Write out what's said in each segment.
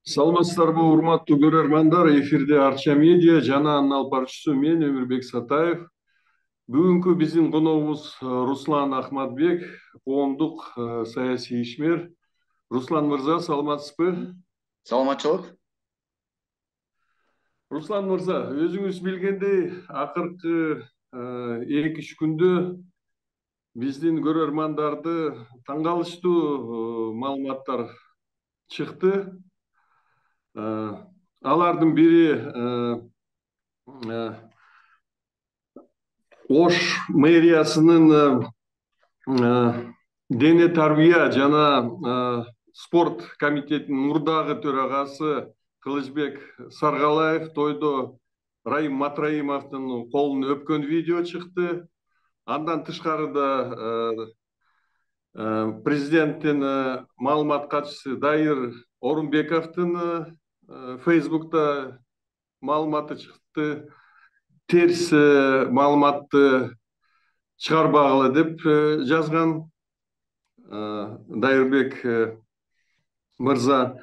Саламатсыздарбы, урматтуу көрөрмандар. Эфирде Арча медиа жана анын алып баруучусу мен Өмүрбек Сатаев. Бүгүнкү биздин коногубуз Руслан Ахматбек, коомдук саясий ишмер. Руслан мырза, саламатсызбы? Саламатчылык. Руслан мырза, өзүңүз билгендей, акыркы 2-3 күндө биздин көрөрмандарды таң калыштуу маалыматтар чыкты. Алардын бири Ош мэриясынын дене тарбия жана спорт комитетинин мурдагы төрагасы Кылычбек Саргалаев тойдо Раим Матраимовдун колун өпкөн видео чыкты. Андан тышкары да президенттин маалымат катчысы Дайыр Орунбековдун Facebook'та маалыматы чыкты. Терс маалыматты чыгарбагыла деп жазган Дайырбек мырза.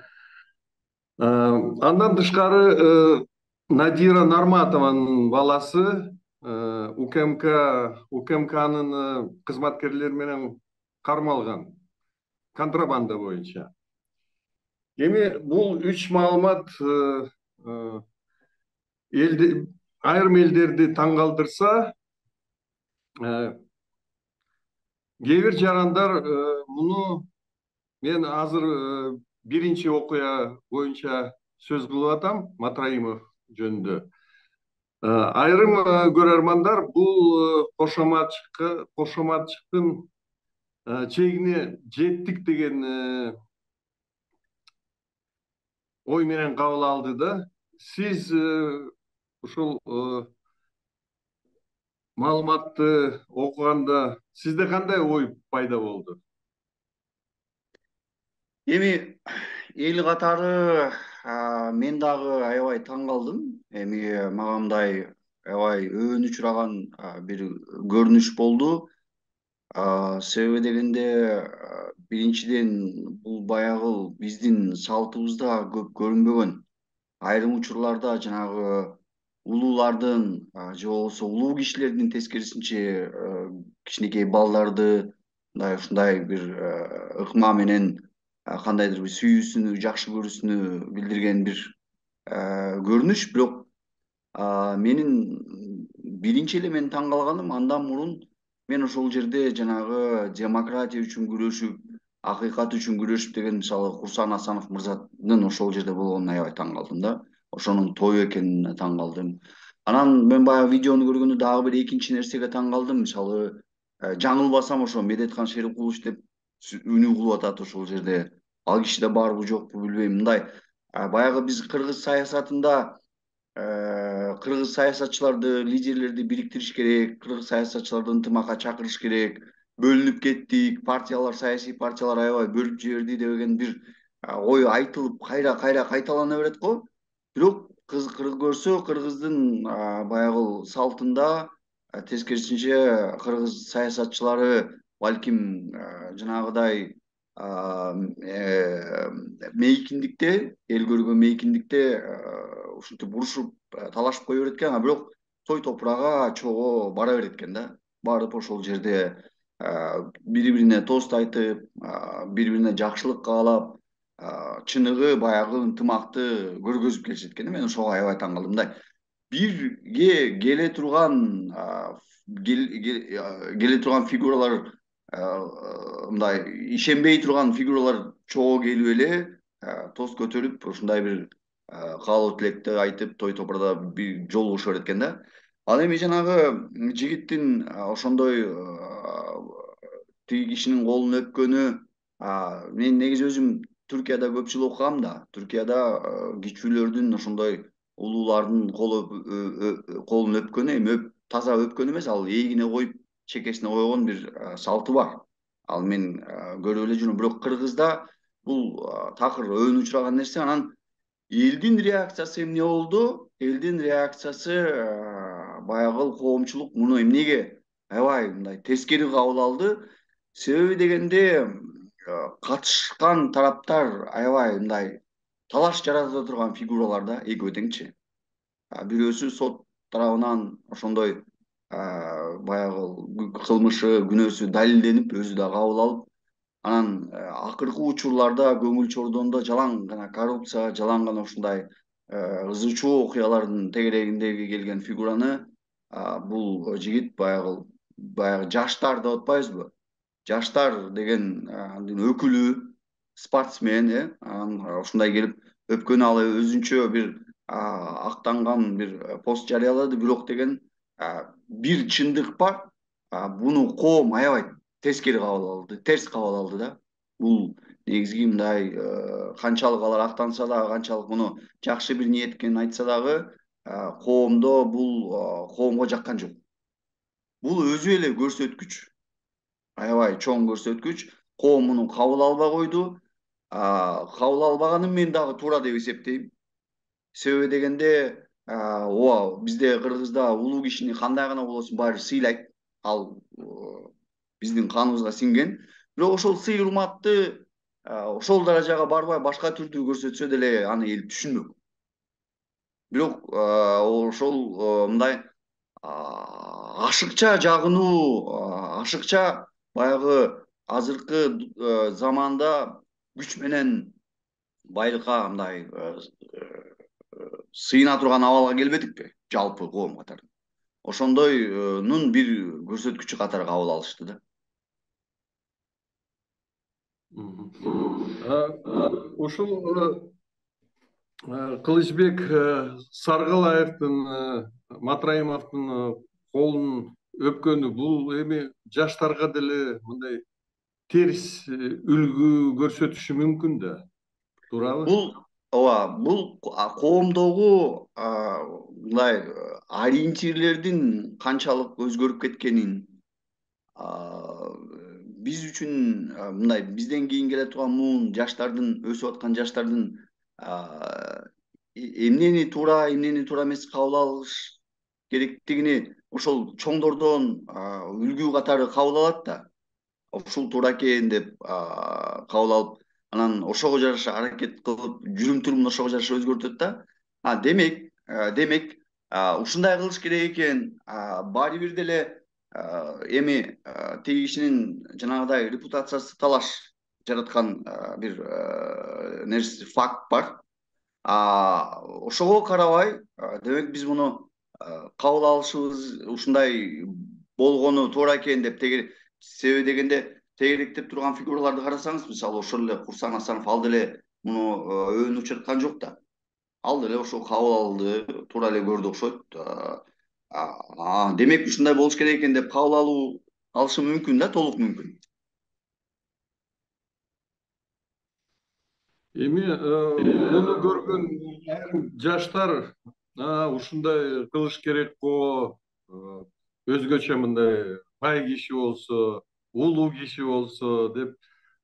Андан тышкары Надира Нарматованын баласы УКМКнын кызматкерлери менен кармалган контрабанда боюнча. Эми бул 3 маалымат айрым элдерди таң калтырса, кээ бир жарандар муну мен азыр биринчи окуя боюнча сөз кылып атам, Матраимов жөнүндө. Айрым көрөрмандар бул кошоматчыктын чегине жеттик деген ой менен кабыл алды да. Сиз ушул маалыматты окуганда сизде кандай ой пайда болду? Эми эл катары мен дагы аябай таң калдым. Эми мага мындай аябай өбөн учураган бир көрүнүш болду. Себеби дегенде биринчиден бул баягы биздин салтыбызда көп көрүнбөгөн. Айрым учурларда жанагы улуулардын же болбосо улуу кишилердин тескерисинче кичинекей балдарды мындай ушундай бир ыкма менен кандайдыр бир сүйүүсүнү, жакшы көрүүсүнү билдирген бир көрүнүш. Бирок менин биринчи эле мен таң калганым, андан мурун мен ошол жерде жанагы демократия үчүн күрөшүп, акыйкат үчүн күрөшүп деген мисалы Курсан Асанов мырзанын ошол жерде болгонуна аябай таң калдым да. Ошонун тою экенине таң калдым. Анан мен баягы видеону көргөндө дагы бир экинчи нерсеге таң калдым. Мисалы жаңылбасам ошо Медеткан Шерикулович деп үнү кылып атат ошол жерде. Ал кишиде барбы жокпу билбейм. Мындай баягы биз кыргыз саясатында кыргыз саясатчыларды, лидерлерди бириктириш керек, кыргыз саясатчыларды ынтымакка чакырыш керек, бөлүнүп кеттик, партиялар, саясий партиялар аябай бөлүп жиберди деген бир ой айтылып кайра кайталана берет го. Бирок көрсө кыргыздын баягы салтында тескерисинче кыргыз саясатчылары балким жанагыдай мейкиндикте, эл көргөн мейкиндикте ушинтип урушуп талашып кое берет экен. Бирок той топурага чогуу бара берет экен да. Барып ошол жерде бири бирине тост айтып, бири бирине жакшылык каалап, чыныгы баягы ынтымакты көргөзүп келишет экен. Мен ошого аябай таң калдым. Мындай бирге келе турган фигуралар, мындай ишенбей турган фигуралар чогуу келип эле тост көтөрүп, ушундай бир каалоо тилекти айтып, той топурада бир жолугуша берет экен да. Ал эми жанагы жигиттин ошондой тиги кишинин колун өпкөнү, мен негизи өзүм Түркияда көп жыл окугам да. Түркияда кичүүлөрдүн ошондой улуулардын колун өпкөнү, эми таза өпкөн эмес, ал эгине коюп, чекесине койгон бир салты бар. Ал мен көрүп эле жүрөм. Бирок Кыргызда бул такыр өбөн учураган нерсе. Анан элдин реакциясы эмне болду? Элдин реакциясы баягы коомчулук муну эмнеге аябай мындай тескери кабыл алды. Себеби дегенде катышкан тараптар аябай мындай талаш жарата турган фигуралар да экөө теңчи. Бирөөсү сот тарабынан ошондой баягы кылмышы күнөөсү далилденип өзү да кабыл алып, анан акыркы учурларда көңүл чордондо жалаң гана коррупция, жалаң гана ушундай ызы чуу окуялардын тегерегиндеги келген фигураны бул жигит баягы жаштар деп атпайбызбы? Жаштар деген өкүлү, спортсмен, ушундай келип өпкөнү ал өзүнчө бир актанган бир пост жарыялады, бирок деген бир чындык бар. Буну коом аябай тескери кабыл алды, терс кабыл алды да. Бул негизги мындай канчалык алар актанса дагы, канчалык муну жакшы бир ниет экенин айтса дагы, коомдо бул коомго жаккан жок. Бул өзү эле көрсөткүч, аябай чоң көрсөткүч. Коом муну кабыл албай койду. Кабыл албаганын мен дагы туура деп эсептейм. Себеби дегенде, ооба, бизде Кыргызда улуу кишини кандай гана болосун баары сыйлайт. Ал биздин каныбызга сиңген. Бирок ошол сый урматты ошол даражага барбай башка түрдүү көрсөтсө деле аны эл түшүнмөк. Бирок ошол мындай ашыкча жагынуу, ашыкча баягы азыркы заманда күч менен байлыкка мындай сыйына турган абалга келбедикпи жалпы коом катары. Ошондойнун бир көрсөткүчү катары кабыл алышты да. Ушул Кылычбек Саргылаевдин, Матраимовдун колун өпкөнү бул эми жаштарга деле мындай терс үлгү көрсөтүшү мүмкүн да, туурабы? Ооба, бул коомдогу мындай ориентирлердин канчалык өзгөрүп кеткенин, биз үчүн мындай бизден кийин келе турган муун жаштардын, өсүп аткан жаштардын эмнени туура эмес кабыл алыш керектигини ошол чоңдордон үлгү катары кабыл алат да. Ушул туура экен деп кабыл алып, анан ошого жараша аракет кылып, жүрүм турумун ошого жараша өзгөртөт да. Демек, ушундай кылыш керек экен. Баары бир деле эми тиги кишинин жанагыдай репутациясы талаш жараткан бир нерсе, факт бар. Ошого карабай, демек биз муну кабыл алышыбыз ушундай болгону туура экен деп себеби дегенде тегеректеп турган фигураларды карасаңыз, мисалы ошол эле Курсан Асанов, ал деле муну өөнүп жаткан жок да. Ал деле ошол кабыл алды, туура эле көрдү окшойт. Демек ушундай болуш керек экен деп кабыл алышы мүмкүн да, толук мүмкүн. Эми муну көргөн айрым жаштар ушундай кылыш керек го, өзгөчө мындай бай киши болсо, улуу киши болсо деп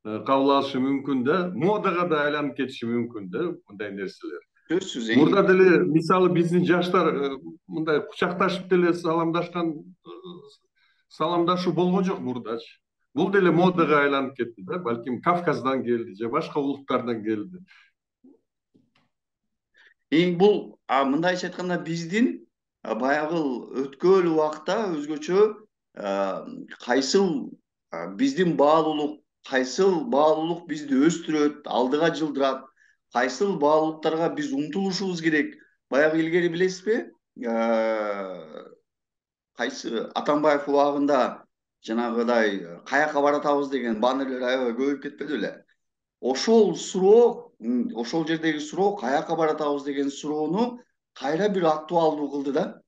кабыл алышы мүмкүн да, модага да айланып кетиши мүмкүн да мындай нерселер. Сөзсүз. Мурда деле мисалы биздин жаштар мындай кучакташып деле саламдашуу болгон жок мурдачы. Бул деле модага айланып кетти да, балким Кавказдан келди же башка улуттардан келди. Бул мындайча айтканда биздин баягы өткөн убакта өзгөчө кайсыл биздин баалуулук, кайсыл баалуулук бизди өстүрөт, алдыга жылдырат, кайсыл баалуулуктарга биз умтулушубуз керек. Баягы илгери билесизби? Кайсы Атамбаев убагында жанагыдай каяка баратабыз деген баннерлер аябай көбөйүп кетпеди беле? Ошол суроо, ошол жердеги суроо, каяка баратабыз деген суроону кайра бир актуалдуу кылды да.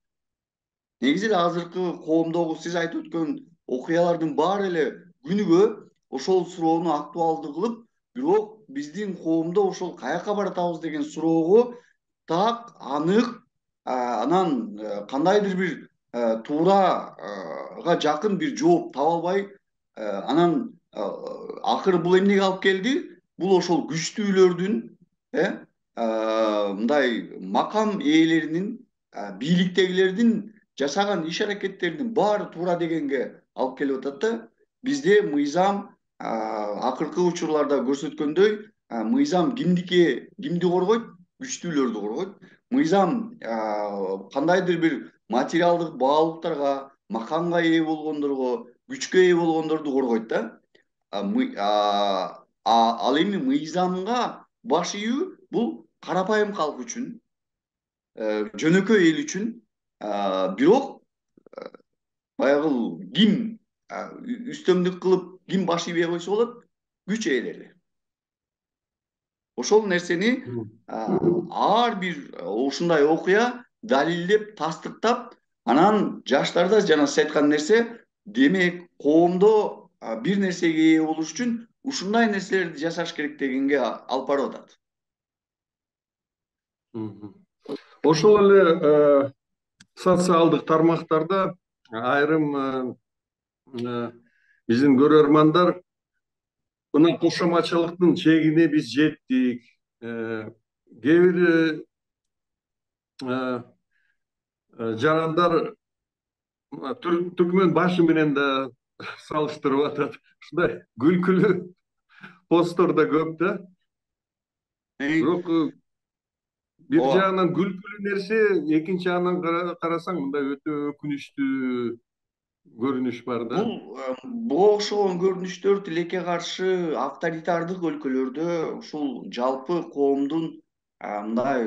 Негизи эле азыркы коомдогу сиз айтып өткөн окуялардын баары эле күнүгө ошол суроону актуалдуу кылып, бирок биздин коомдо ошол каяка баратабыз деген суроого так, анык, анан кандайдыр бир туурага жакын бир жооп таба албай, анан акыры бул эмнеге алып келди? Бул ошол күчтүүлөрдүн, мындай макам ээлеринин, бийликтегилердин жасаган иш аракеттеринин баары туура дегенге алып келип атат да. Бизде мыйзам акыркы учурларда көрсөткөндөй мыйзам кимди коргойт? Күчтүүлөрдү коргойт. Мыйзам кандайдыр бир материалдык баалуулуктарга, макамга ээ болгондорго, күчкө ээ болгондорду коргойт да. Ал эми мыйзамга баш ийүү бул карапайым калк үчүн, жөнөкөй эл үчүн, бирок баягы ким үстөмдүк кылып ким баш ийбей койсо болот? Күч ээлери. Ошол нерсени ар бир ушундай окуя далилдеп, тастыктап, анан жаштарда жана сиз айткан нерсе, демек коомдо бир нерсеге ээ болуш үчүн ушундай нерселерди жасаш керек дегенге алып барып атат. Ошол эле социалдык тармактарда айрым биздин көрөрмандар мына кошомачылыктын чегине биз жеттик. Кээ бир жарандар түркмөн башы менен да салыштырып атат. Ушундай күлкүлүү посттор да көп да. Бирок бир жагынан күлкүлүү нерсе, экинчи жагынан карасаң мындай өтө өкүнүчтүү көрүнүш бар да. Буга окшогон көрүнүштөр тилекке каршы авторитардык өлкөлөрдө ушул жалпы коомдун мындай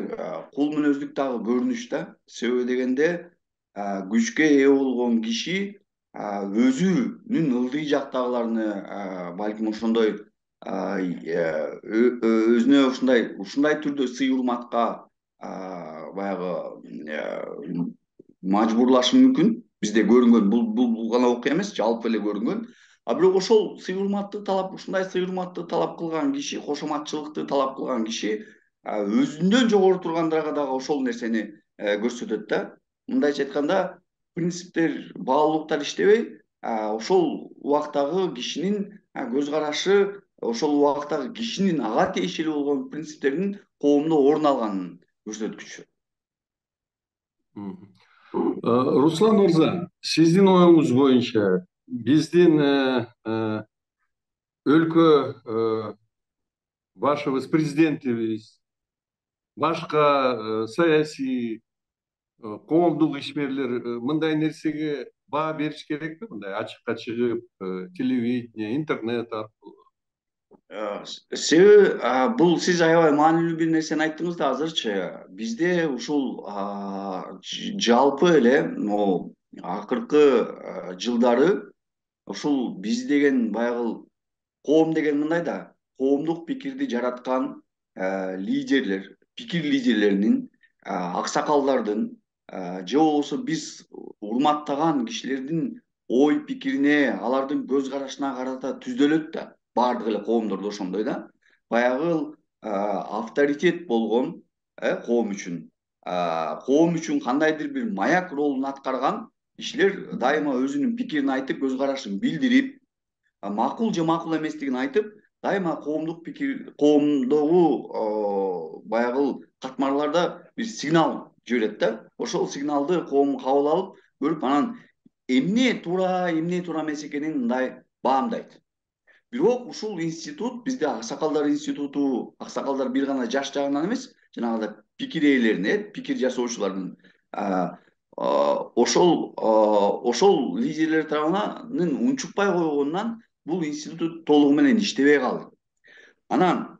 кул мүнөздүк дагы көрүнүш да. Себеби дегенде күчкө ээ болгон киши өзүнүн ылдый жактагыларны балким ошондой өзүнө ушундай түрдө сый урматка баягы мажбурлашы мүмкүн. Бизде көрүнгөн бул гана окуя эмес, жалпы эле көрүнгөн. Бирок ошол сый урматты талап, ушундай сый урматты талап кылган киши, кошоматчылыкты талап кылган киши өзүнөн жогору тургандарга дагы ошол нерсени көрсөтөт да. Мындайча айтканда, принциптер, баалуулуктар иштебей, ошол убактагы кишинин көз карашы, ошол убактагы кишинин ага тиешелүү болгон принциптердин коомдо орун алганын көрсөткүчү. Руслан мырза, сиздин оюңуз боюнча биздин өлкө башыбыз, президентибиз, башка саясий коомдук ишмерлер мындай нерсеге баа бериш керекпи? Мындай ачыкка чыгып, телевидение, интернет аркылуу. Себеби бул сиз аябай маанилүү бир нерсени айттыңыз да азырчы. Бизде ушул жалпы эле могу акыркы жылдары ушул биз деген баягы коом деген мындай да, коомдук пикирди жараткан лидерлер, пикир лидерлеринин, аксакалдардын же болбосо биз урматтаган кишилердин ой пикирине, алардын көз карашына карата түздөлөт да. Баардык эле коомдордо ошондой да. Баягы авторитет болгон коом үчүн кандайдыр бир маяк ролун аткарган кишилер дайыма өзүнүн пикирин айтып, көз карашын билдирип, макул же макул эместигин айтып, дайыма коомдук пикир, коомдогу баягы катмарларда бир сигнал жиберет да. Ошол сигналды коом кабыл алып, көрүп, анан эмне туура, эмне туура эмес экенин мындай баамдайт. Бирок ушул институт, бизде аксакалдар институту, аксакалдар бир гана жаш жагынан эмес, жанагындай пикир ээлеринин, пикир жасоочулардын ошол лидерлер тарабынан унчукпай койгонунан бул институт толугу менен иштебей калды. Анан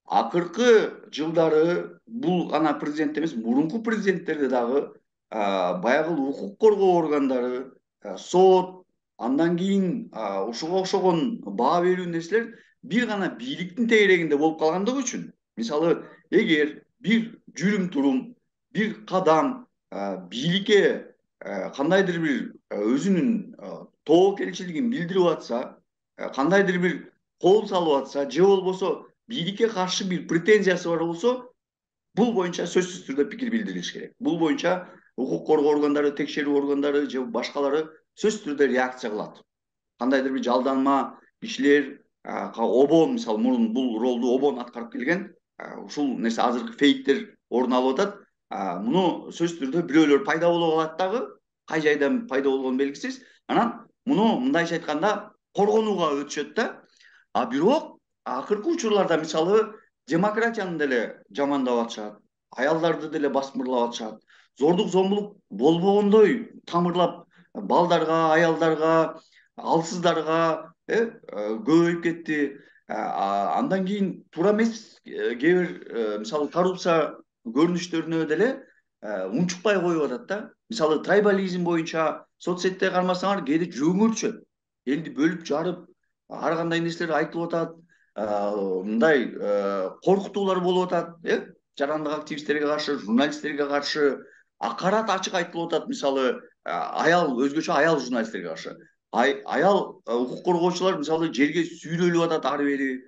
акыркы жылдары бул гана президент эмес, мурунку президенттерде дагы баягы укук коргоо органдары, сот, андан кийин ушуга окшогон баа берүү нерселер бир гана бийликтин тегерегинде болуп калгандыгы үчүн, мисалы, эгер бир жүрүм турум, бир кадам бийликке кандайдыр бир өзүнүн тобокелчилигин билдирип атса, кандайдыр бир кол салып атса, же болбосо бийликке каршы бир претензиясы бар болсо, бул боюнча сөзсүз түрдө пикир билдирилиш керек. Бул боюнча укук коргоо органдары, текшерүү органдары же башкалары сөзсүз түрдө реакция кылат. Кандайдыр бир жалданма кишилер, обон, мисалы, мурун бул ролду обон аткарып келген, ушул нерсе азыркы фейктер орун алып атат. Муну сөзсүз түрдө бирөөлөр пайда боло калат дагы, кай жайдан пайда болгону белгисиз. Анан муну мындайча айтканда коргонууга өтүшөт да. Бирок акыркы учурларда мисалы демократияны деле жамандап атышат, аялдарды деле басмырлап атышат, зордук зомбулук болбогондой тамырлап балдарга, аялдарга, алсыздарга көбөйүп кетти. Андан кийин туура эмес кээ бир мисалы коррупция көрүнүштөрүнө деле унчукпай коюп атат да. Мисалы трайбализм боюнча соц сетте кармасаңар кээде жүрөгүңөр түшөт. Элди бөлүп жарып ар кандай нерселер айтылып атат. Мындай коркутуулар болуп атат, жарандык активисттерге каршы, журналисттерге каршы акарат ачык айтылып атат. Мисалы аял өзгөчө аял журналисттерге каршы. Аял укук коргоочулар мисалы жерге сүйрөлүп атат ары бери,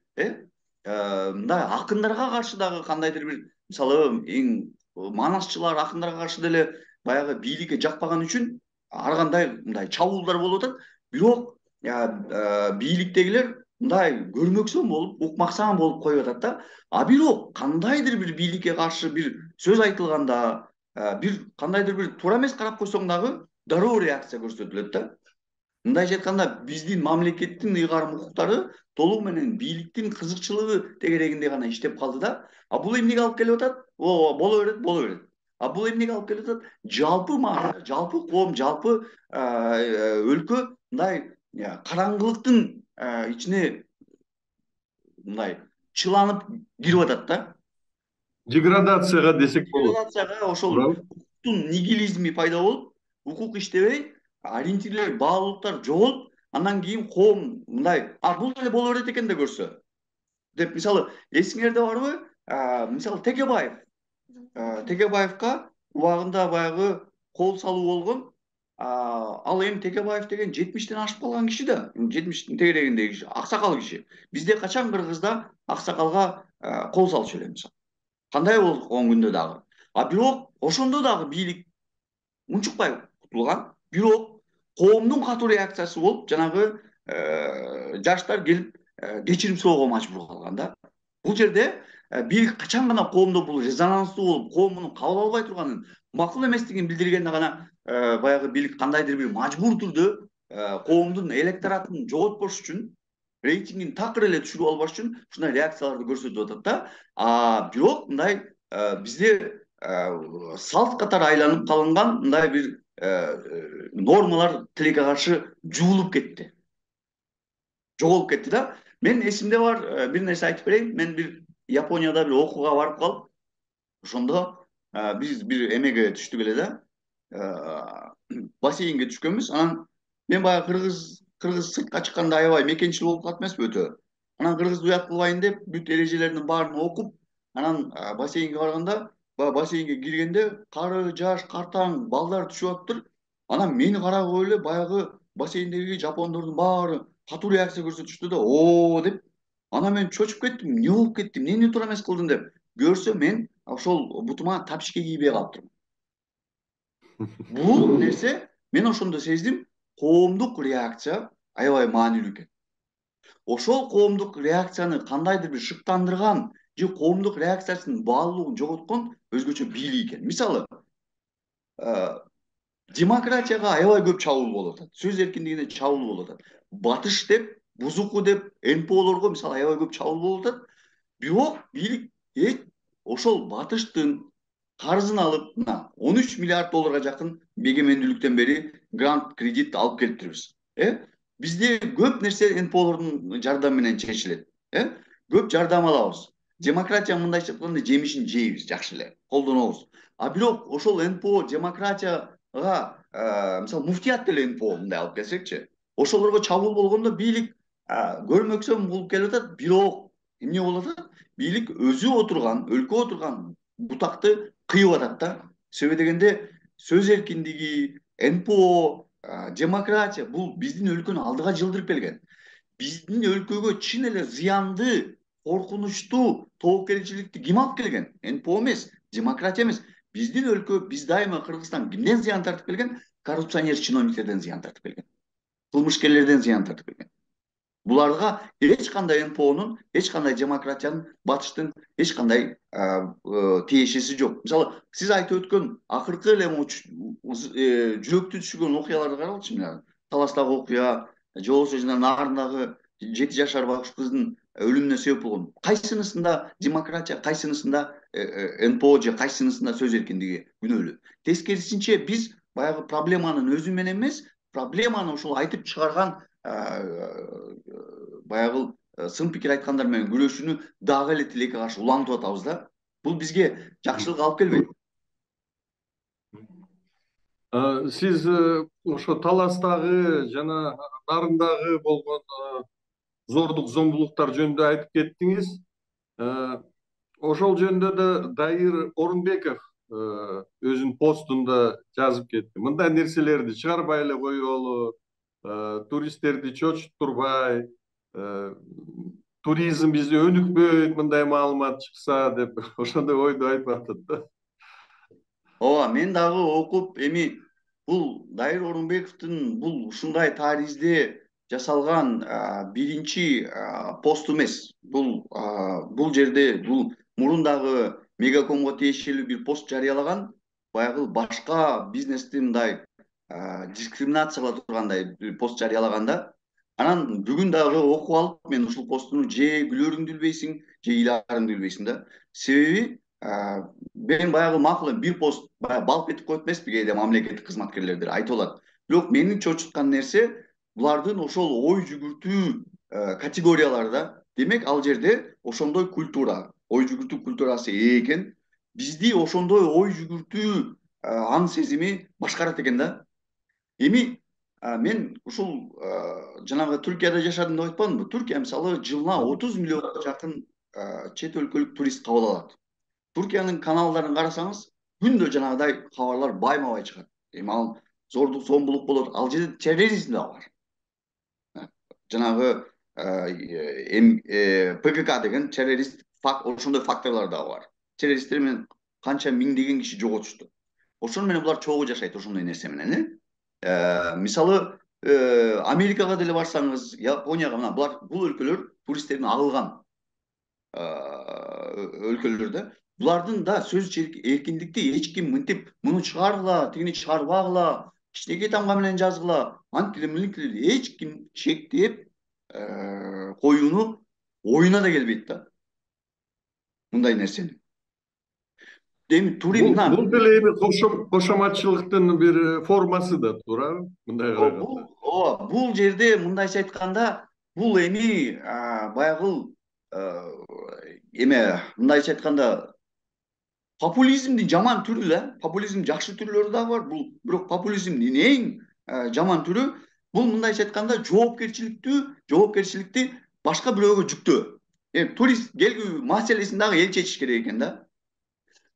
мындай акындарга каршы дагы кандайдыр бир мисалы эң манасчылар акындарга каршы деле баягы бийликке жакпаган үчүн ар кандай мындай чабуулдар болуп атат. Бирок бийликтегилер мындай көрмөксөн болуп, укмаксан болуп коюп атат да. Бирок кандайдыр бир бийликке каршы бир сөз айтылганда, бир кандайдыр бир туура эмес карап койсоң дагы дароо реакция көрсөтүлөт да. Мындайча айтканда биздин мамлекеттин ыйгарым укуктары толугу менен бийликтин кызыкчылыгы тегерегинде гана иштеп калды да. Бул эмнеге алып келип атат? Боло берет, боло берет. Бул эмнеге алып келип атат? Жалпы маана, жалпы коом, жалпы өлкө мындай караңгылыктын ичине мындай чыланып кирип атат да. Деградацияга десек болот. Деградацияга ошол укуктун нигилизми пайда болуп, укук иштебей, ориентирлер, баалуулуктар жоголуп, андан кийин коом мындай, бул деле боло берет экен да көрсө деп. Мисалы эсиңерде барбы? Мисалы Текебаевка убагында баягы кол салуу болгон. Ал эми Текебаев деген 70тен ашып калган киши да, 70тин тегерегиндеги киши, аксакал киши. Бизде качан Кыргызда аксакалга кол салчу эле мисалы. Кандай болгон күндө дагы. Бирок ошондо дагы бийлик унчукпай кутулган. Бирок коомдун катуу реакциясы болуп, жанагы жаштар келип кечирим суроого мажбур калган да. Бул жерде бийлик качан гана коомдо бул резонанстуу болуп, коом муну кабыл албай турганын, макул эместигин билдиргенде гана баягы бийлик кандайдыр бир мажбур түрдө коомдун электоратын жоготпош үчүн, рейтингин такыр эле түшүрүп албаш үчүн ушундай реакцияларды көрсөтүп атат да. Бирок мындай бизде салт катары айланып калынган мындай бир нормалар тилекке каршы жуулуп кетти, жоголуп кетти да. Мен эсимде бар бир нерсе айтып берейин. Мен бир Японияда бир окууга барып калып, ошондо биз бир эмеге түштүк эле да, бассейнге түшкөнбүз. Анан мен баягы кыргыз сыртка чыкканда аябай мекенчил болуп калат эмеспи өтө. Анан кыргызды уят кылбайын деп бүт эрежелердин баарын окуп, анан бассейнге барганда, бассейнге киргенде кары, жаш, картаң балдар түшүп атыптыр. Анан мени карап коюп эле баягы бассейндеги жапондордун баары катуу реакция көрсөтүштү да, деп. Анан мен чочуп кеттим. Эмне болуп кетти? Эмнени туура эмес кылдым деп. Көрсө мен ошол бутума тапишке кийбей калыптырмын. Бул нерсе мен ошондо сездим, коомдук реакция аябай маанилүү экен. Ошол коомдук реакцияны кандайдыр бир шыктандырган же коомдук реакциясынын баалуулугун жоготкон өзгөчө бийлик экен. Мисалы демократияга аябай көп чабуул болуп атат. Сөз эркиндигине чабуул болуп атат. Батыш деп, бузуку деп, НПОлорго мисалы аябай көп чабуул болуп атат. Бирок бийлик ошол батыштын карызын алып, мына 13 миллиард долларга жакын эгемендүүлүктөн бери грант, кредит алып келиптирбиз. Бизде көп нерсе НПОлордун жардамы менен чечилет. Көп жардам алабыз. Демократия мындайча айтканда жемишин жейбиз, жакшы эле, колдонобуз. Бирок ошол НПО демократияга мисалы муфтият деле НПО мындай алып келсекчи, ошолорго чабуул болгондо бийлик көрмөксөн болуп келип атат. Бирок эмне болуп атат? Бийлик өзү отурган, өлкө отурган бутакты кыйып атат да. Себеби дегенде сөз эркиндиги, НПО, демократия бул биздин өлкөнү алдыга жылдырып келген. Биздин өлкөгө чын эле зыянды, коркунучтуу тобокелчиликти ким алып келген? НПО эмес, демократия эмес. Биздин өлкө, биз дайыма Кыргызстан кимден зыян тартып келген? Коррупционер чиновниктерден зыян тартып келген. Кылмышкерлерден зыян тартып келген. Буларга эч кандай НПОнун, эч кандай демократиянын, батыштын эч кандай тиешеси жок. Мисалы, сиз айтып өткөн акыркы эле жүрөктү түшүргөн окуяларды карагылчы. Таластагы окуя, же болбосо жана нарындагы 7 жашар байкуш кыздын өлүмүнө себеп болгон. Кайсынысында демократия, кайсынысында НПО же кайсынысында сөз эркиндиги күнөөлүү. Тескерисинче биз баягы проблеманын өзү менен эмес, проблеманы ушул айтып чыгарган баягы сын пикир айткандар менен күрөшүүнү дагы эле тилекке каршы улантып атабыз да. Бул бизге жакшылык алып келбейт. Сиз ошо таластагы жана нарындагы болгон зордук зомбулуктар жөнүндө айтып кеттиңиз. Ошол жөнүндө да Дайыр Орунбеков өзүнүн постунда жазып кетти. Мындай нерселерди чыгарбай эле коелу, туристтерди чочуттурбай, туризм бизде өнүкпөйт мындай маалымат чыкса деп ошондой ойду айтып атат да. Ооба, мен дагы окуп эми бул Дайыр Орунбековдун бул ушундай таризде жасалган биринчи пост эмес. Бул жерде бул мурун дагы Мегакомго тиешелүү бир пост жарыялаган, баягы башка бизнести мындай дискриминация кыла тургандай бир пост жарыялаган да. Анан бүгүн дагы окуп алып, мен ушул постту же күлөрүңдү билбейсиң, же ыйлаарыңды билбейсиң да. Себеби мен баягы макул эми бир пост баягы балп этип коет эмеспи, кээде мамлекеттик кызматкерлердер айтып алат. Бирок мени чочуткан нерсе булардын ошол ой жүгүртүү категориялары да. Демек ал жерде ошондой культура, ой жүгүртүү культурасы экен. Бизди ошондой ой жүгүртүү аң сезими башкарат экен да. Эми мен ушул жанагы Түркияда жашадым деп айтпадымбы? Түркия мисалы жылына 30 миллионго жакын чет өлкөлүк турист кабыл алат. Түркиянын каналдарын карасаңыз, күндө жанагыдай кабарлар байма-бай чыгат. Эми ал зордук, зомбулук болот, ал жерде терроризм да бар. Жанагы ПКК деген террорист ошондой факторлор да бар. Террористтер менен канча миңдеген киши жоготушту. Ошону менен булар чогуу жашайт ошондой нерсе менен, мисалы Америкага деле барсаңыз, Японияга, мына бул өлкөлөр туристтердин агылган өлкөлөр да. Булардын да сөз эркиндикти эч ким мынтип муну чыгаргыла, тигини чыгарбагыла, кичинекей тамга менен жазгыла, антиле эч ким чектеп коюуну оюна да келбейт да. Мындай нерсени. Эми туризм Бул деле эми кошоматчылыктын бир формасы да туурабы? Мындай караганда. Ооба, бул жерде мындайча айтканда, бул эми баягы эме мындайча айтканда популизмдин жаман түрү да. Популизм жакшы түрлөрү да бар. Бирок популизмдин эң жаман түрү бул мындайча айтканда жоопкерчиликти башка бирөөгө жүктөө. Турист келүү маселесин дагы эл чечиш керек экен да.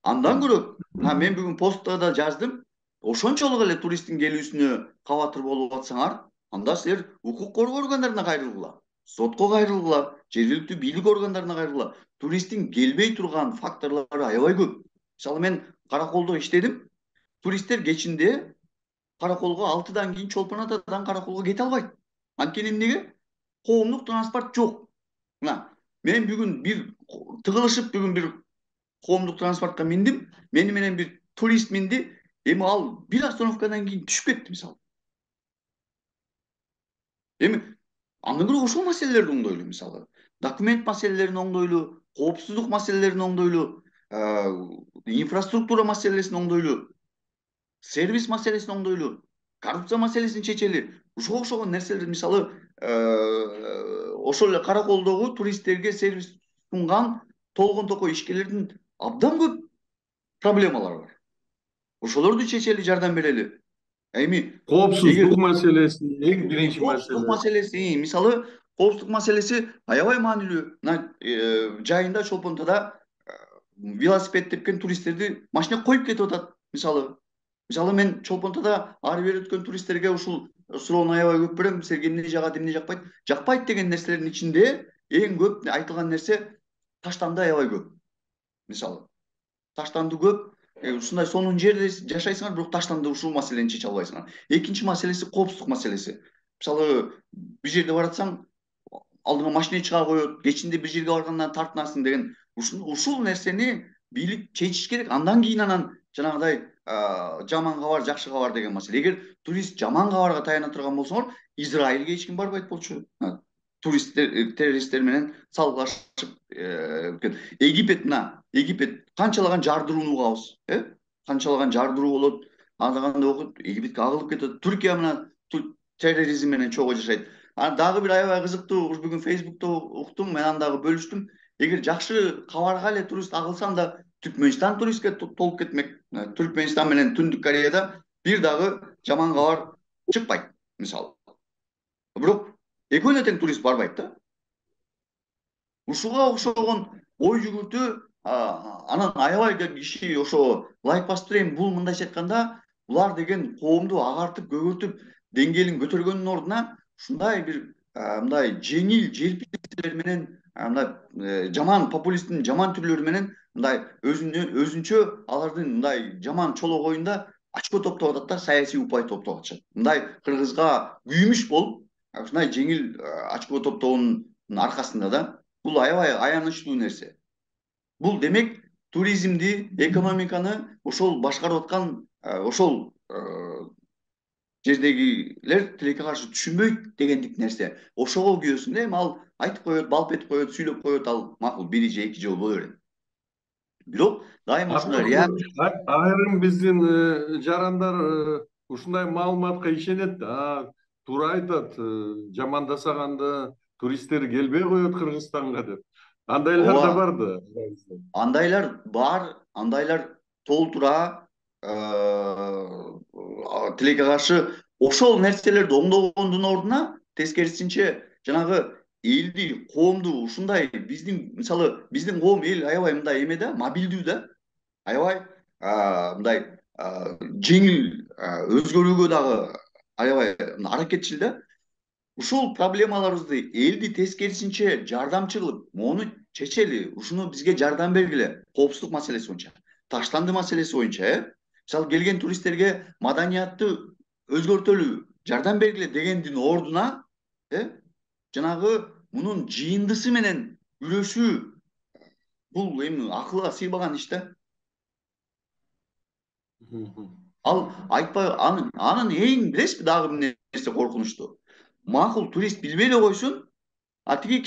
Андан көрө, мен бүгүн постта да жаздым. Ошончолук эле туристтин келүүсүнө кабатыр болуп атсаңар, анда силер укук коргоо органдарына кайрылгыла, сотко кайрылгыла, жергиликтүү бийлик органдарына кайрылгыла. Туристтин келбей турган факторлору аябай көп. Мисалы мен Караколдо иштедим. Туристтер кечинде Караколго 6-дан кийин Чолпон Атадан Караколго кете албайт. Анткени эмнеге? Коомдук транспорт жок. Мына, мен бүгүн бир тыгылышып бүгүн бир коомдук транспортко миндим. Мени менен бир турист минди. Эми ал бир остановкадан кийин түшүп кетти мисалы. Эми андан көрө ошол маселелерди оңдойлу мисалы. Документ маселелерин оңдойлу, коопсуздук маселелерин оңдойлу, инфраструктура маселесин оңдойлу, сервис маселесин оңдойлу, коррупция маселесин чечели. Ушуга окшогон нерселер мисалы ошол эле Караколдогу туристтерге сервис сунган толгон токой ишкерлердин абдан көп проблемалары бар. Ошолорду чечели, жардам берели. Эми Коопсуздук маселеси эң биринчи коопсуздук маселеси, мисалы коопсуздук маселеси аябай маанилүү. Мына жайында Чолпон Атада велосипед тепкен туристтерди машинеге коюп кетип атат мисалы. Мисалы мен Чолпон Атада ары бери өткөн туристтерге ушул суроону аябай көп берем. Силерге эмне жагат, эмне жакпайт? Жакпайт деген нерселердин ичинде эң көп айтылган нерсе таштанды аябай көп. Мисалы таштанды көп. Ушундай сонун жерде жашайсыңар, бирок таштанды ушул маселени чече албайсыңар. Экинчи маселеси коопсуздук маселеси. Мисалы бир жерде баратсаң, алдыңа машина чыга коет, кечинде бир жерге баргандан тартынасың деген ушул нерсени бийлик чечиш керек. Андан кийин анан жанагыдай жаман кабар, жакшы кабар деген маселе. Эгер турист жаман кабарга таяна турган болсоңор, Израилге эч ким барбайт болчу. террористтер менен салгылашып Египет Египет канчалаган жардырууну угабыз, канчалаган жардыруу болот, анда окуп Египетке агылып кетет. Түркия мына терроризм менен чогуу жашайт. Анан дагы бир аябай кызыктуу бүгүн Фейсбукта уктум, мен аны дагы бөлүштүм. Эгер жакшы кабарга эле турист агылсам да Түркмөнстан туристке толуп кетмек. Түркмөнстан менен Түндүк Кореяда бир дагы жаман кабар чыкпайт мисалы. Бирок экөөнө тең турист барбайт да. Ушуга окшогон ой жүгүртүү, анан аябай киши ошо лайк басып турайын. Бул мындайча айтканда булар деген коомду агартып көгөртүп деңгээлин көтөргөндүн ордуна ушундай бир мындай жеңил желпи нерселер менен, мындай жаман популисттин жаман түрлөрү менен мындай өзүнчө алардын мындай жаман чолок оюнда очко топтоп атат да, саясий упай топтоп атышат. Мындай кыргызга күймүш болуп, ушундай жеңил очко топтоонун аркасында да. Бул аябай аянычтуу нерсе. Бул демек туризмди, экономиканы ошол башкарып аткан ошол жердегилер тилекке каршы түшүнбөйт дегендик нерсе. Ошого күйөсүн, эми ал айтып коет, балп этип коет, сүйлөп коет, ал макул бир же эки жолу боло берет. Бирок дайыма ушундай айрым биздин жарандар ушундай маалыматка ишенет да. Туура айтат, жамандасаганда туристтер келбей коет Кыргызстанга деп. Андайлар да бар да. Андайлар бар, андайлар толтура тилекке каршы ошол нерселерди оңдогондун ордуна тескерисинче жанагы элди, коомду ушундай мисалы биздин коом эл аябай мындай эме да, мобилдүү да, аябай мындай жеңил өзгөрүүгө дагы аябай аракетчил да. Ушул проблемаларыбызды элди тескерисинче жардамчы кылып, мону чечели, ушуну бизге жардам бергиле. Коопсуздук маселеси боюнча, таштанды маселеси боюнча, мисалы келген туристтерге маданиятты өзгөртөлү, жардам бергиле дегендин ордуна, жанагы мунун жыйындысы менен күрөшүү, бул эми акылга сыйбаган иш да. Ал айтпай анын эң билесизби дагы бир нерсе коркунучтуу. Макул турист билбей эле койсун, тиги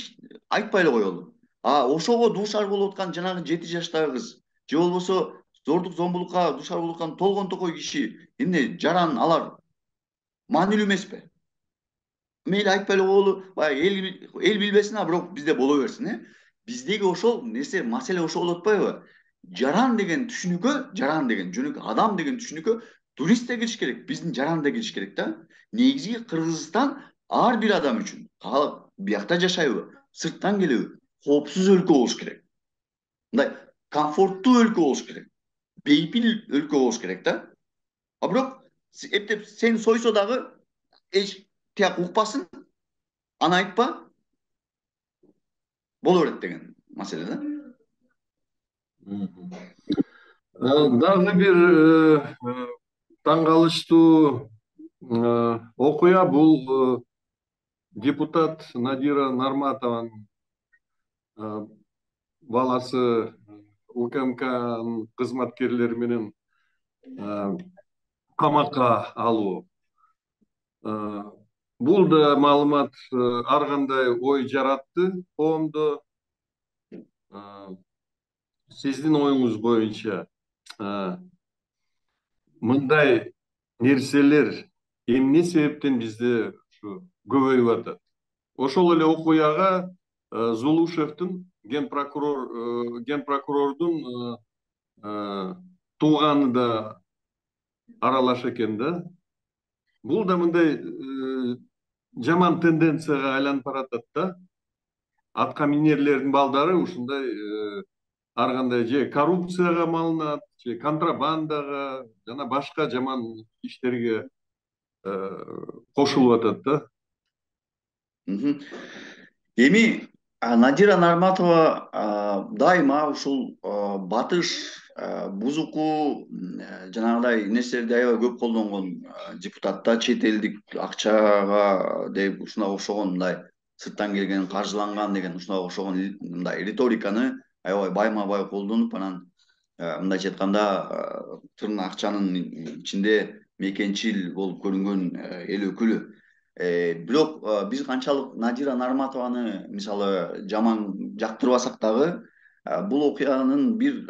айтпай эле коелу. Ошого дуушар болуп аткан жанагы 7 жаштагы кыз же болбосо зордук зомбулукка дуушар болуп аткан толгон токой киши, эмне жаран алар маанилүү эмеспи? Мейли айтпай эле коелу, баягы эл билбесин, бирок бизде боло берсин, Биздеги ошол нерсе, маселе ошол болуп атпайбы? Жаран деген түшүнүккө, жаран деген жөнөкөй адам деген түшүнүккө турист да кириш керек, биздин жаран да кириш керек да. Негизи Кыргызстан ар бир адам үчүн, биякта жашайбы, сырттан келеби, коопсуз өлкө болуш керек. Мындай комфорттуу өлкө болуш керек. Бейпил өлкө болуш керек да. Бирок эптеп сени сойсо дагы эч тияк укпасын, аны айтпа, боло берет деген маселе да. Дагы бир таң калыштуу окуя бул депутат Надира Нарматованын баласы УКМКнын кызматкерлери менен камакка алуу. Бул да маалымат ар кандай ой жаратты коомдо. Сиздин оюңуз боюнча мындай нерселер эмне себептен бизде көбөйүп атат? Ошол эле окуяга Зулушевдин ген прокурордун тууганы да аралаша экен да. Бул да мындай жаман тенденцияга айланып баратат да. Атка минерлердин балдары ушундай ар кандай же коррупцияга малынат, же контрабандага, жана башка жаман иштерге кошулуп атат да. Эми Надира Нарматова дайыма ушул батыш, бузуку, жанагыдай нерселерди аябай көп колдонгон депутат да, чет элдик акчага деп ушуга окшогон мындай сырттан келген, каржыланган деген ушуга окшогон мындай риториканы аябай байма бай колдонуп, анан мындайча айтканда акчанын ичинде мекенчил болуп көрүнгөн эл өкүлү. Бирок биз канчалык Надира Нарматованы мисалы жаман жактырбасак дагы, бул окуянын бир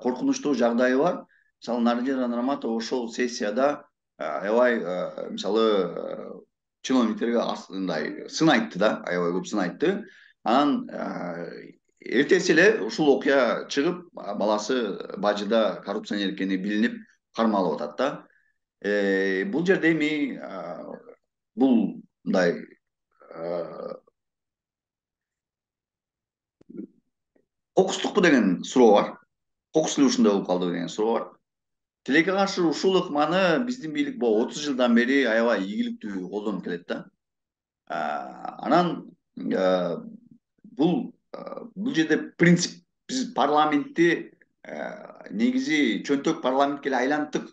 коркунучтуу жагдайы бар. Мисалы Надира Нарматова ошол сессияда аябай мисалы чиновниктерге мындай сын айтты да, аябай көп сын айтты. Анан эртеси эле ушул окуя чыгып, баласы бажыда коррупционер экени билинип кармалып атат да. Бул жерде эми бул мындай кокустукпу деген суроо бар. Кокус эле ушундай болуп калдыбы деген суроо бар. Тилекке каршы ушул ыкманы биздин бийлик 30 жылдан бери аябай ийгиликтүү колдонуп келет да. Анан бул жерде принцип, биз парламентти негизи чөнтөк парламентке эле айланттык.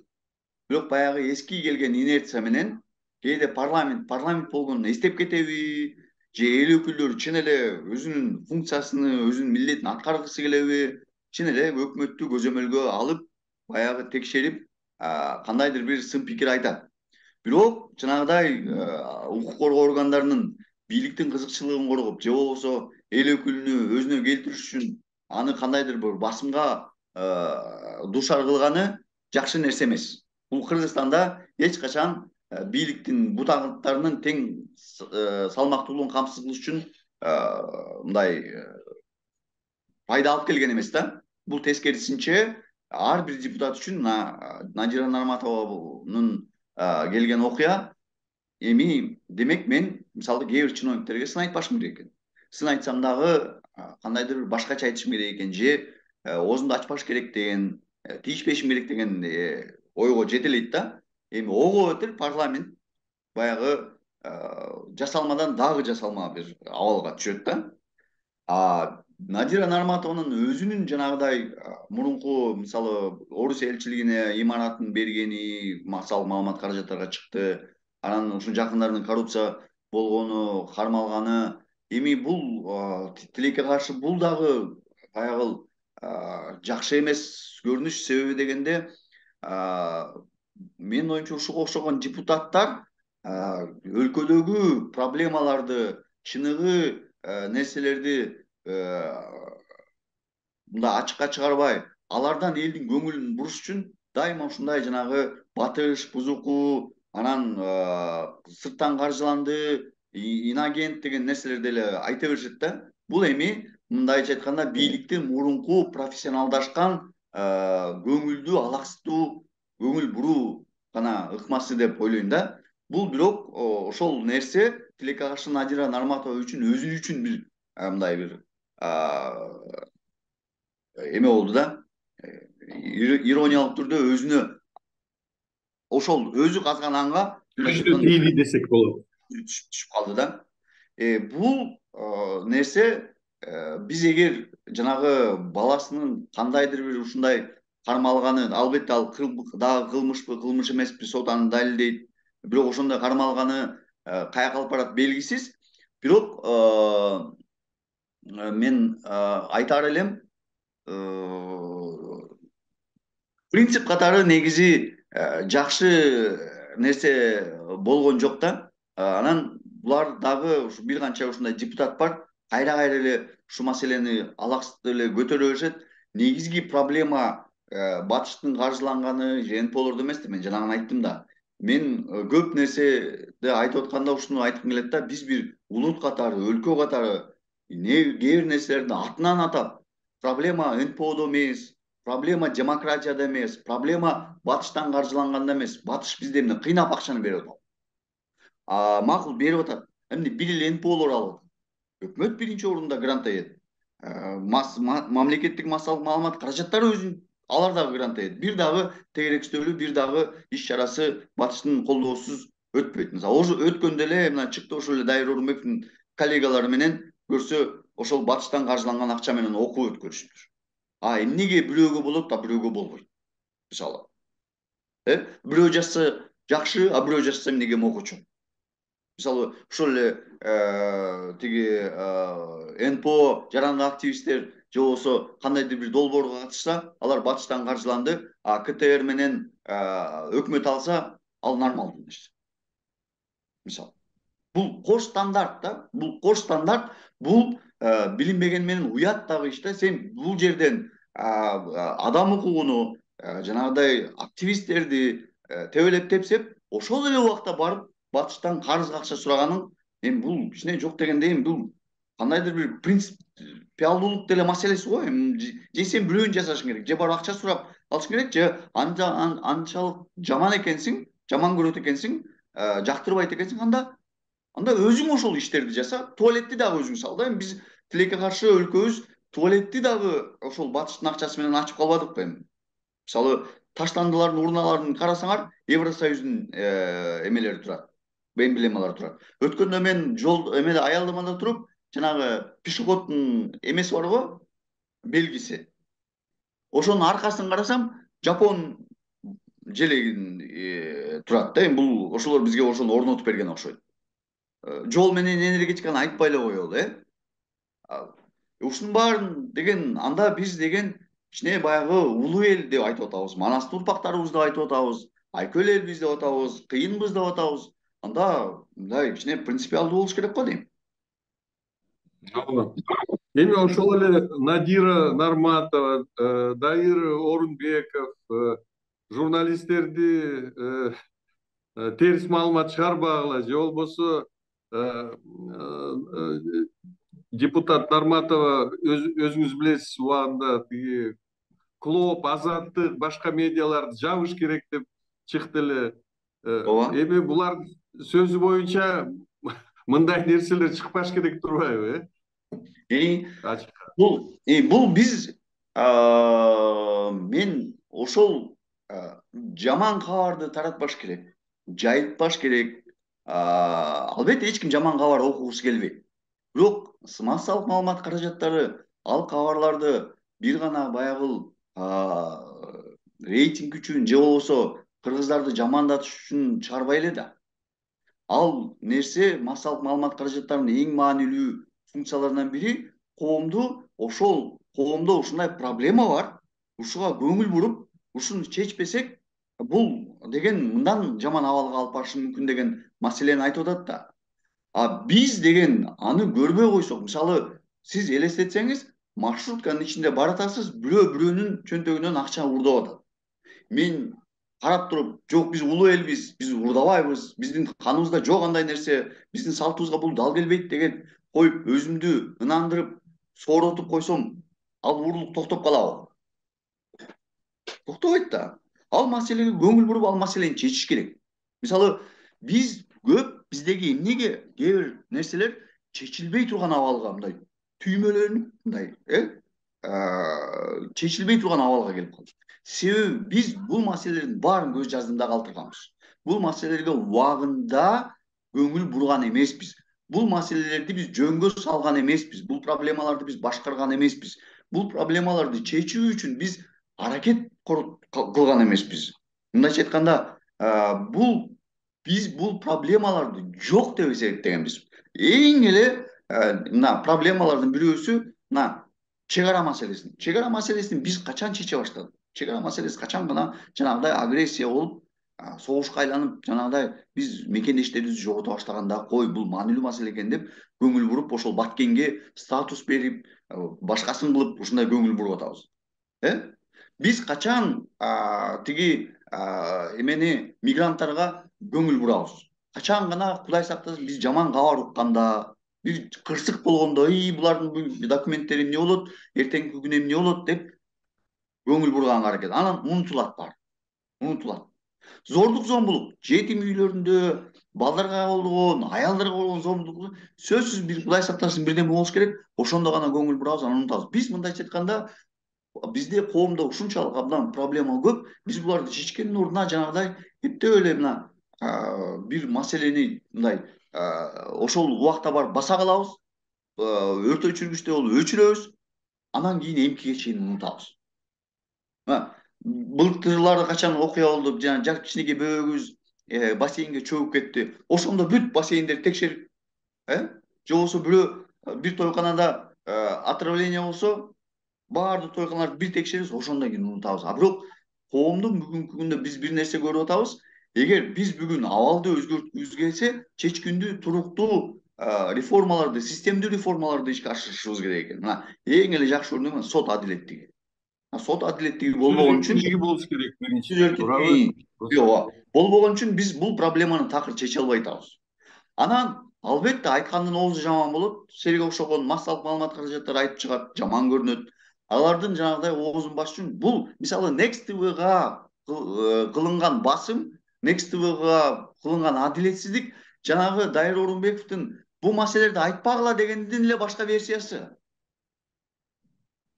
Бирок баягы эски келген инерция менен кээде парламент болгонун эстеп кетеби, же эл өкүлдөрү чын эле өзүнүн функциясыны, өзүнүн милдетин аткаргысы келеби, чын эле өкмөттү көзөмөлгө алып, баягы текшерип, кандайдыр бир сын пикир айтат. Бирок жанагыдай укук коргоо органдарынын бийликтин кызыкчылыгын коргоп, же болбосо эл өкүлүнү өзүнө келтириш үчүн аны кандайдыр бир басымга дуушар кылганы жакшы нерсе эмес. Бул Кыргызстанда эч качан бийликтин бутактарынын тең салмактуулугун камсыз кылыш үчүн мындай пайда алып келген эмес да. Бул тескерисинче ар бир депутат үчүн Надира Нарматованын келген окуя эми демек мен мисалы кээ бир чиновниктерге сын айтпашым керек экен. Сын айтсам дагы кандайдыр бир башкача айтышым керек экен, же оозумду ачпаш керек деген, тийишпешим керек деген ойго жетелейт да. Эми ого бетер парламент баягы жасалмадан дагы жасалма бир абалга түшөт да. Надира Нарматованын өзүнүн жанагыдай мурунку мисалы Орус элчилигине имаратын бергени массалык маалымат каражаттарга чыкты. Анан ушул жакындарынын коррупция болгону, кармалганы. Эми бул тилекке каршы бул дагы баягы жакшы эмес көрүнүш. Себеби дегенде менин оюмча ушуга окшогон депутаттар өлкөдөгү проблемаларды, чыныгы нерселерди мындай ачыкка чыгарбай, алардан элдин көңүлүн буруш үчүн дайыма ушундай жанагы батыш, бузуку, анан сырттан каржыланды, инагент деген нерселерди эле айта беришет да. Бул эми мындайча айтканда бийликтин мурунку профессионалдашкан көңүлдүү, алаксыздуу көңүл буруу гана ыкмасы деп ойлойм да. Бул бирок ошол нерсе тилекке каршы Надира Нарматова үчүн өзү үчүн бир мындай бир эме болду да. Ирониялык түрдө өзүнө ошол өзү казган анга Түздү тийди десек болот. Түшүп калды да. Бул нерсе биз эгер жанагы баласынын кандайдыр бир ушундай кармалганы, албетте ал дагы кылмышпы, кылмыш эмеспи, сот аны далилдейт. Бирок ошондой кармалганы каяка алып барат белгисиз. Бирок мен айтаар элем, принцип катары негизи жакшы нерсе болгон жок да. Анан булар дагы ушу бир канча ушундай депутат бар, кайра эле ушу маселени алаксыздык эле көтөрө беришет. Негизги проблема батыштын каржыланганы же НПОлордо эмес да, мен жанагы айттым да. Мен көп нерседи айтып атканда ушуну айткым келет да, биз бир улут катары, өлкө катары кээ бир нерселерди атынан атап, проблема НПОдо эмес, проблема демократияда эмес, проблема батыштан каржыланганда эмес. Батыш бизде эмне кыйнап акчаны берип атат. Макул берип атат. Эмне бир эле НПОлор алып атат. Өкмөт биринчи орунда грант ает. Мамлекеттик массалык маалымат каражаттары өзүн алар дагы грант ает. Бир дагы тегерекстөөлүү, бир дагы иш чарасы батыштын колдоосуз өтпөйт. Мисалы өткөндө эле мына чыкты, ошол эле Дайыр Орунбековдун коллегалары менен көрсө ошол батыштан каржыланган акча менен окуу өткөрүшүптүр. Эмнеге бирөөгө болот, бирөөгө болбойт? Мисалы, бирөө жазса жакшы, бирөө жазса эмнеге мокочу? Мисалы, ошол эле тиги НПО жарандык активисттер же болбосо кандайдыр бир долбоорго катышса, алар батыштан каржыланды, КТР менен өкмөт алса, ал нормалдуу нерсе. Мисалы. Бул кош стандарт да. Бул кош стандарт. Бул билинбеген менен уят дагы иш да. Сен бул жерден адам укугуну, жанагыдай активисттерди тебелеп тепсеп, ошол эле убакта барып батыштан карызга акча сураганың, эми бул кичине жок дегенде эми бул кандайдыр бир принципиалдуулук деле маселеси го. Эми же сен бирөөнү жасашың керек, же барып акча сурап алышың керек, же анчалык жаман экенсиң, жаман көрөт экенсиң, жактырбайт экенсиң, анда өзүң ошол иштерди жаса, туалетти дагы өзүң сал да. Эми биз тилекке каршы өлкөбүз туалетти дагы ошол батыштын акчасы менен ачып калбадыкпы эми? Мисалы, таштандылардын урналарын карасаңар, Евросоюздун эмелери турат, эмблемалары турат. Өткөндө мен жол эмеде аялдамада туруп, жанагы пешеходдун эмеси бар го, белгиси. Ошонун аркасын карасам, Жапон желегин турат да. Эми бул ошолор бизге ошону орнотуп берген окшойт. Жол менен энергетиканы айтпай эле коелу, ушунун баарын деген, анда биз деген кичине баягы улуу эл деп айтып атабыз, манастын урпактарыбыз деп айтып атабыз, айкөл элбиз деп атабыз, кыйынбыз деп атабыз. Анда мындай кичине принципиалдуу болуш керек го дейм. Жок. Эми ошол эле Надира Нарматова, Дайыр Орунбеков журналисттерди терс маалымат чыгарбагыла, же болбосо депутат Нарматова өзүңүз билесиз, убагында тиги Клоп, Азаттык, башка медиаларды жабыш керек деп чыкты эле. Ооба. Эми булар сөзү боюнча мындай нерселер чыкпаш керек турбайбы, бул биз мен ошол жаман кабарды таратпаш керек, жайытпаш керек. Албетте эч ким жаман кабар окугусу келбейт. Бирок массалык маалымат каражаттары ал кабарларды бир гана баягы рейтинг үчүн же болбосо кыргыздарды жамандатыш үчүн чыгарбай эле да. Ал нерсе массалык маалымат каражаттарынын эң маанилүү функцияларынан бири коомдо ушундай проблема бар, ушуга көңүл буруп, ушуну чечпесек, бул деген мындан жаман абалга алып барышы мүмкүн деген маселени айтып атат да. Биз деген аны көрбөй койсок, мисалы, сиз элестетсеңиз, маршрутканын ичинде баратасыз, бирөөнүн чөнтөгүнөн акча уурдап атат. Мен карап туруп, жок, биз улуу элбиз, биз уурдабайбыз, биздин каныбызда жок андай нерсе, биздин салтыбызга бул дал келбейт деген коюп, өзүмдү ынандырып, сооротуп койсом, ал уурулук токтоп калабы? Токтобойт да. Ал маселеге көңүл буруп, ал маселени чечиш керек. Мисалы, биздеги эмнеге кээ бир нерселер чечилбей турган абалга, мындай түймөлөнүп, мындай чечилбей турган абалга келип калды. Себеби биз бул маселелердин баарын көз жаздымда калтырганбыз. Бул маселелерге убагында көңүл бурган эмеспиз. Бул маселелерди биз жөнгө салган эмеспиз. Бул проблемаларды биз башкарган эмеспиз. Бул проблемаларды чечүү үчүн биз аракет кылган эмеспиз. Мындайча айтканда, биз бул проблемаларды жок деп эсептегенбиз. Эң эле мына проблемалардын бирөөсү мына чек ара маселеси. Чек ара маселесин биз качан чече баштадык? Чек ара маселеси качан гана жанагыдай агрессия болуп, согушка айланып, жанагыдай биз мекендештерибизди жогото баштаганда, кой, бул маанилүү маселе экен деп көңүл буруп, ошол Баткенге статус берип, башкасын кылып ушундай көңүл буруп атабыз. Биз качан тиги эмени мигранттарга көңүл бурабыз? Качан гана, Кудай сактасын, биз жаман кабар укканда, бир кырсык болгондо, булардын документтери эмне болот, эртеңки күнү эмне болот деп көңүл бурганга аракет. Анан унутулат баары. Унутулат. Зордук зомбулук, жетим үйлөрүндө балдарга болгон, аялдарга болгон зомбулук сөзсүз бир Кудай сактасын бирдеме болуш керек. Ошондо гана көңүл бурабыз, анан унутабыз. Биз мындайча айтканда, бизде коомдо ушунчалык абдан проблема көп. Биз буларды чечкендин ордуна жанагыдай эптеп эле мына бир маселени мындай ошол убакта барып баса калабыз, өртө өчүргүчтөй болуп өчүрөбүз, анан кийин эмки чейин унутабыз. Былтырлары качан окуя болду, жана кичинекей бөбөгүбүз бассейнге чөгүп кетти. Ошондо бүт бассейндерди текшерип, же болбосо бир тойканада отравление болсо, баардык тойканаларды бир текшерибиз, ошондон кийин унутабыз. Бирок коомдун бүгүнкү күндө биз бир нерсе көрүп атабыз. Эгер биз бүгүн абалды өзгөрткүбүз келсе, чечкиндүү, туруктуу реформаларды, системдүү реформаларды ишке ашырышыбыз керек экен. Мына эң эле жакшы өрнөгү сот адилеттиги. Сот адилеттиги сөз болбогон үчүн эркиндиги болуш керек сөз биринчиден, туурабы? эркиндиги болбогон үчүн биз бул проблеманы такыр чече албай атабыз. Анан албетте айткандын оозу жаман болот. Силерге окшогон массалык маалымат каражаттары айтып чыгат, жаман көрүнөт. Алардын жанагыдай оозун басыш үчүн бул мисалы Next TV-га кылынган басым, Next TV-га кылынган адилетсиздик жанагы Дайыр Орунбековдун бул маселелерди айтпагыла дегендин эле башка версиясы.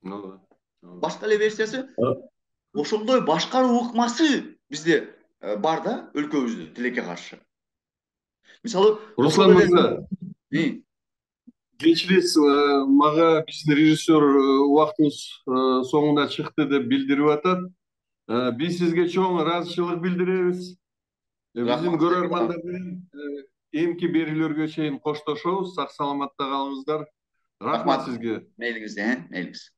Башка эле версиясы. Ошондой башкаруу ыкмасы бизде бар да, өлкөбүздө тилекке каршы. Мисалы, Руслан мырза, кечиресиз, мага биздин режиссер убактыбыз соңуна чыкты деп билдирип атат. Биз сизге чоң ыраазычылык билдиребиз. Биздин көрөрмандар менен эмки берүүлөргө чейин коштошобуз. Сак саламатта калыңыздар. Рахмат сизге. Мейлиңиз.